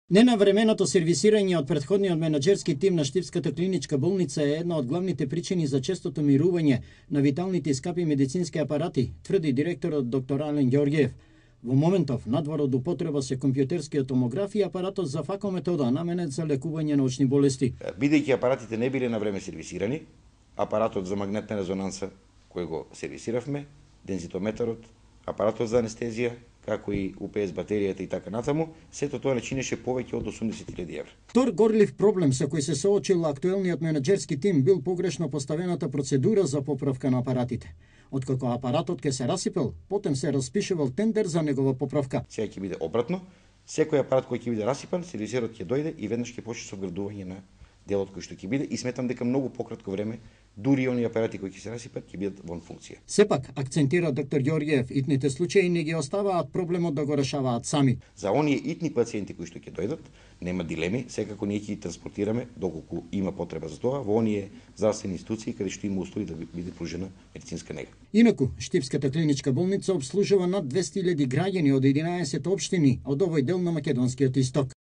Ненавременото сервисирање од претходниот менаџерски тим на Штипската клиничка болница е една од главните причини за честото мирување на виталните и скапи медицински апарати, тврди директорот доктор Ален Ѓорѓиев. Во моментов, надвор од употреба се компјутерскиот томограф и апаратот за факометода наменет за лекување на очни болести. Бидејќи апаратите не биле на време сервисирани, апаратот за магнетна резонанса кој го сервисиравме, дензитометарот, апаратот за анестезија, како и УПС батеријата и така натаму, сето тоа не чинеше повеќе од 80.000 евра. Втор горлив проблем со кој се соочил актуелниот менаџерски тим бил погрешно поставената процедура за поправка на апаратите. Откако апаратот ке се расипел, потем се распишувал тендер за негова поправка. Сега ќе биде обратно, секој апарат кој ќе биде расипан, сервисерот ќе дојде и веднаш ќе почне со вградување на делот кој што ќе биде и сметам дека многу пократко време дури и оние апарати кои ќе се расипат ќе бидат во функција. Сепак, акцентира доктор Ѓорѓиев, итните случаи не ги оставаат проблемот да го решаваат сами. За оние итни пациенти кои што ќе дојдат, нема дилеми, секако ние ќе ги транспортираме доколку има потреба за тоа во оние здравствени институции каде што има услови да биде пружена медицинска нега. Инаку, Штипската клиничка болница обслужува над 200.000 граѓани од 11 општини од овој дел на македонскиот исток.